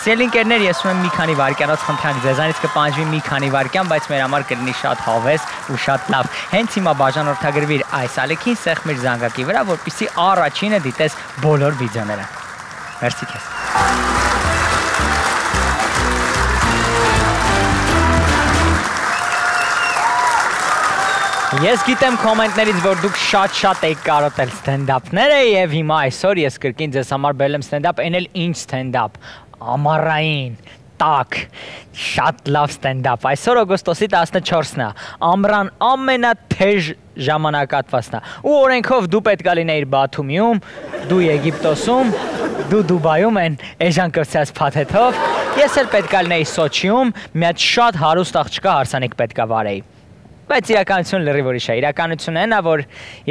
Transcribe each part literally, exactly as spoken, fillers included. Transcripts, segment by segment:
Սիրելիներ, ես ունեմ մի քանի վայրկյանոց խնդրանք ձեզանից կպահանջվի մի քանի վայրկյան, բայց մեր համար կլինի շատ հավես ու շատ լավ։ Հենց հիմա բաժանորդագրվիր այս ալիքին, սեղմիր զանգակի վրա, որպեսզի առաջինը դիտես բոլոր վիդեոները։ Մերսի քեզ։ Ես գիտեմ կոմենտներից, որ դուք շատ-շատ եք կարոտել ստենդափները եւ հիմա այսօր ես կրկին ձեզ համար բերել եմ ստենդափ, այն էլ ինչ ստենդափ, ամառային, տաք, շատ լավ ստենդափ։ Այսօր օգոստոսի տասնչորսն է, ամռան ամենաթեժ ժամանակահատվածն է։ Ու օրենքով դու պետք է լինեիր Բաթումիում, դու Եգիպտոսում, դու Դուբայում են էժան կրծած փաթեթով, ես էլ պետք է լինեի Սոչիում, մի հատ շատ հարուստ աղջկա հարսանիք պետք է վարեի։ Բայց իրականություն լրիվ ուրիշ է, իրականությունն այն է, որ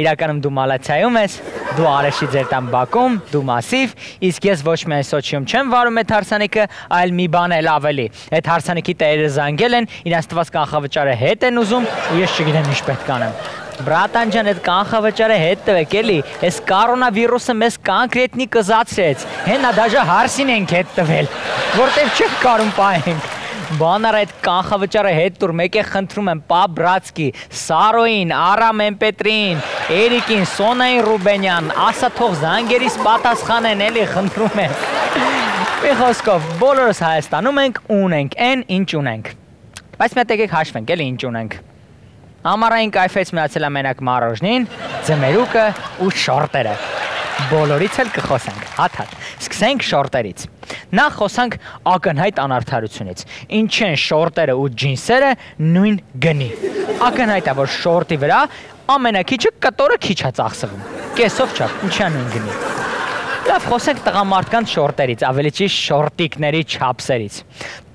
իրականում դու Մալաթիայում ես, դու Արեշի ձեր տան բակում, դու Մասիվ, իսկ ես ոչ միայն Սոչիում չեմ վարում այդ հարսանիքը, այլ մի բան էլ ավելի։ Այդ հարսանիքի տերերը զանգել են, իրենց տված կանխավճարը հետ են ուզում, ու ես չգիտեմ ինչ պետք անեմ։ Բրատան ջան, այդ կանխավճարը հետ տվեք էլի, այս կորոնավիրուսը մեզ կոնկրետնի կզացրեց, հենա դաժե հարսին ենք հետ տվել, որտեղ չենք կարում պահենք։ Բանար այդ կանխավճարը հետ տուր, մեկ է խնդրում եմ, պա բրացկի, Սարոին, Արամ Էմպետրին, Էրիկին, Սոնային Ռուբենյան, ասա թող զանգերիս պատասխանեն, էլի խնդրում եմ։ Մի խոսքով, բոլորս Հայաստանում ենք, ունենք, այն ինչ ունենք։ Բայց մեկ եկեք հաշվենք, էլի ինչ ունենք։ Ամառային կայֆից միացել է մենակ մառոժնին, ձմերուկը ու շորտերը։ Բոլորից էլ կխոսենք, հատ-հատ, սկսենք շորտերից։ Նախ խոսանք ակնհայտ անարդարությունից, ինչ են շորտերը ու ջինսերը նույն գնի։ Ակնհայտ է, որ շորտի վրա ամենակիչը կտորը քիչ է ծախսվում, կեսով չափ, ինչա նույն գնի։ Լավ, խոսենք տղամարդկանց շորտերից, ավելի ճիշտ շորտիկների չափսերից։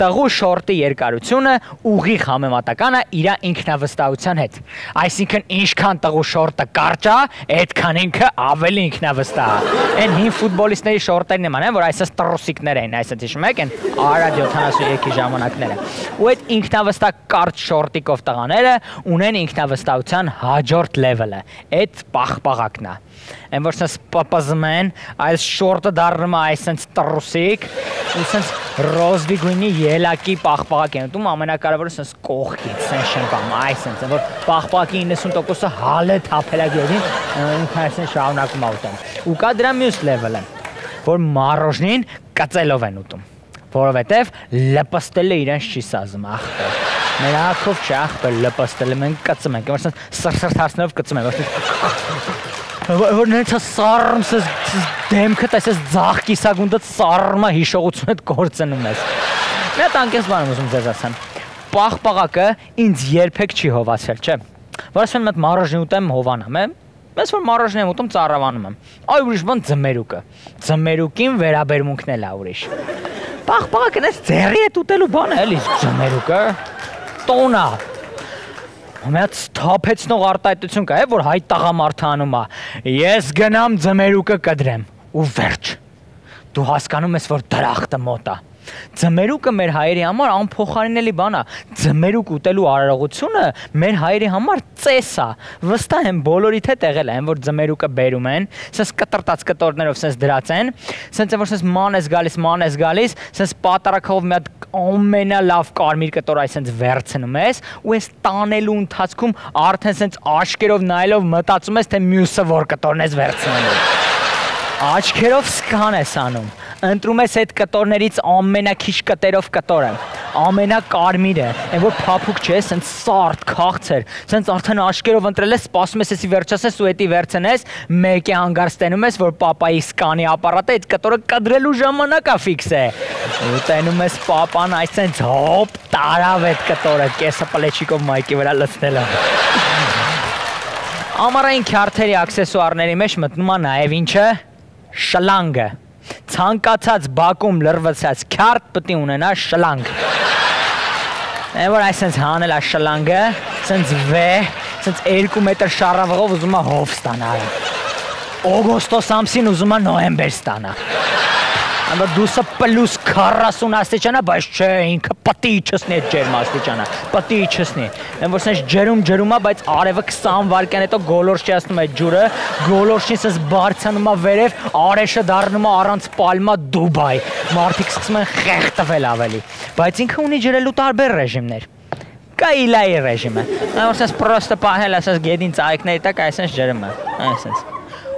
Տղու շորտի երկարությունը ուղիղ համեմատական է իր ինքնավստահության հետ։ Այսինքն ինչքան տղու շորտը կարճ է, այդքան ինքը ավելի ինքնավստահ է։ Այն հին ֆուտբոլիստների շորտերն նման են, որ այսպես տրուսիկներ են, այսպես հիշում եք, են Արադ յոթանասունյոթի ժամանակները։ Ու այդ ինքնավստահ կարճ շորտիկով տղաները ունեն ինքնավստահության հաջորդ լեվելը։ Այդ պաղպաղակն է։ Այն որ sense պապազում են, այս շորտը դառնում է այսպես տրուսիկ, ու sense ռոզվի գույնի ելակի պաղպաղակ են ուտում, ամենակարևորը sense կողքից, sense չեն կամ այսպես, որ պաղպաղակի իննսուն տոկոսը հալ է թափելագերին, ինքն այսպես շարունակում է ուտում։ Ու կա դրա մյուս լեվելը, որ մառոժնին կծելով են ուտում, որովհետև լպստելը իրենց չի սազում, ախպեր։ Մեր ակով չի ախպեր լպստելը, մենք կծում ենք, որ sense սրսրթացնելով կծում ենք, որ նենց սարմ սես դեմքդ այսպես ձախ կիսագունդդ սարմը հիշողությունդ կործնում ես։ Մի հատ անկես բան եմ ուզում ձեզ ասեմ։ Պաղպաղակը ինձ երբեք չի հովացել, չէ։ Որ ասում եմ մառոժնի ուտեմ հովանամ, է։ Ես որ մառոժնի եմ ուտում ծառավանում եմ։ Այ ուրիշ բան ձմերուկը։ Ձմերուկին վերաբերմունքն էլ է ուրիշ։ Պաղպաղակը նենց ձեռի հետ ուտելու բան է, էլի ձմերուկը։ Տոնա։ Մեծ թափեցնող արտահայտություն կա, որ հայ տղամարդը անում է։ Ես գնամ ձմերուկը կդրեմ ու վերջ։ Դու հասկանում ես, որ դրախտը մոտ է։ Ձմերուկը մեր հայերի համար անփոխարինելի բան է։ Ձմերուկ ուտելու արարողությունը մեր հայերի համար ծես է։ Վստահ եմ բոլորիդ հետ եղել է, այն որ ձմերուկը բերում են, sense կտրտած կտորներով sense դրած են, sense որ sense ման ես գալիս, ման ես գալիս, sense պատարակով մի հատ ամենալավ կարմիր կտոր այսպես վերցնում ես, ու այս տանելու ընթացքում արդեն sense աչքերով նայելով մտածում ես, թե մյուսը որ կտորն ես վերցնելու։ Աչքերով սկան ես անում, ընտրում ես այդ կտորներից ամենակիչ կտերով կտորը, ամենակարմիրը, այն որ փափուկ չէ, սենց սարդ, քաղցր, սենց արդեն աչքերով ընտրել ես, սպասում ես եսի վերջասես ու էտի վերցնես, մեկ է հանգար ստենում ես, որ պապայի սկանի ապարատը այդ կտորը կդրելու ժամանակա ֆիքս է, ու տենում ես պապան այս սենց հոպ տարավ այդ կտորը, կեսը պլեչիկով մայկի վրա լցնելով։ Ամառային քյարթերի աքսեսուարների մեջ մտնում է նաև ինչը շլանգը, ցանկացած բակում լրվցած քյարթ պետք է ունենա շլանգ։ Այն որ այսպես հանել է շլանգը, սենց վ, սենց երկու մետր շարավղով ուզում է հով ստանալ։ Օգոստոս ամսին ուզում է նոյեմբեր ստանա։ Անդա դուսը պլյուս քառասուն աստիճանա, բայց չէ, ինքը պտի չսնի այդ ջերմ աստիճանը, պտի չսնի։ Են որ սենց ջերում ջերում է, բայց արևը քսան վայրկյան հետո գոլորշիացնում է ջուրը, գոլորշին սենց բարձանում է վերև, արեշը դառնում է առանց պալմա Դուբայ։ Մարդիկ սկսում են խեղդվել ավելի։ Բայց ինքը ունի ջրելու տարբեր ռեժիմներ։ Կա իլայի ռեժիմը։ Որ սենց պրոստը պահել է սենց գետին ծայիկների տակ, այսպես ջրում է, այսպես։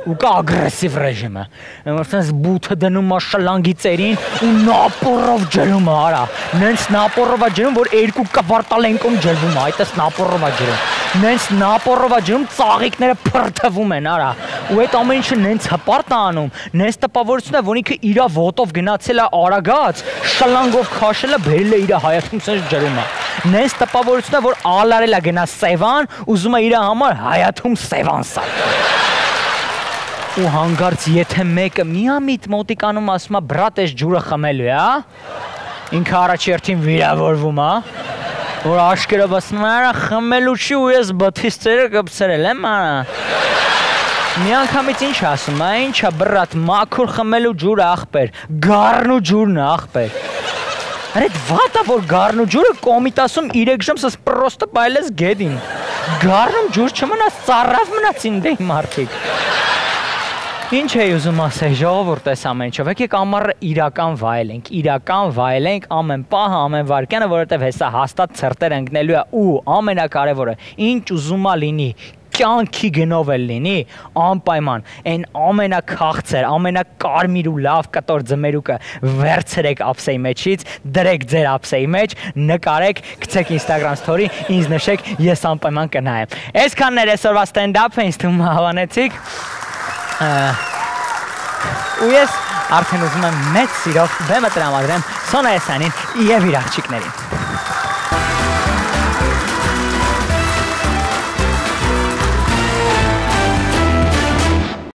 Ու կա ագրեսիվ ռեժիմը, որ սենց բութը դնում է շլանգի ծերին ու նապորով ջրում է, արա, նենց նապորով է ջրում, որ երկու կվարտալենկում ջրվում է, այդպես նապորով է ջրում, նենց նապորով է ջրում, ծաղիկները փրթվում են, արա, ու այդ ամեն ինչը նենց հպարտ է անում, նենց տպավորություն է, որ ինքը իրա ոտով գնացել է արագած, շլանգով քաշել է, բերել է իրա հայացքում սենց ջրում է, նենց տպավորություն է, որ ալարել է գնա Սևան, ուզում է իրա համար հայաթում Սևան սարքել։ Ու հանգարց եթե մեկը միամիտ մոտիկանում ասում է բրատ էս ջուրը խմելու է, ինքը առաջերտին վիրավորվում է, որ աշկերով ասում է արա խմելու չի ու ես բթիս ծերը կպցրել եմ արա։ Մի անգամից ինչ ասում է, ինչա բրատ մաքուր խմելու ջուրը աղբեր, գառնու ջուրն է աղբեր։ Արա այդ վատա որ գառնու ջուրը կոմիտասում երեք ժամ սս պրոստը բայլես գետին։ Գառնում ջուր չմնաց, ծառավ մնացին դե մարդիկ։ Ինչ է ուզում ասել, ժողովուրդ էս ամեն ինչով, եկեք ամառը իրական վայելենք, իրական վայելենք ամեն պահը, ամեն վայրկյանը, որովհետև հեսա հաստատ ցրտեր ընկնելու է ու ամենակարևորը, ինչ ուզում է լինի, կյանքի գնով էլ լինի, անպայման, այն ամենաքաղցր, ամենակարմիր ու լավ կտոր ձմերուկը վերցրեք ափսեի մեջից, դրեք ձեր ափսեի մեջ, նկարեք, գցեք Instagram story, ինձ նշեք, ես անպայման կնայեմ։ Այսքանն էր այսօրվա ստենդափը, ինձ թվում է հավանեցիք։ Ու ես արդեն ուզում եմ մեծ սիրով բեմը տրամադրեմ Սոնա Էսյանին և իր աղջիկներին։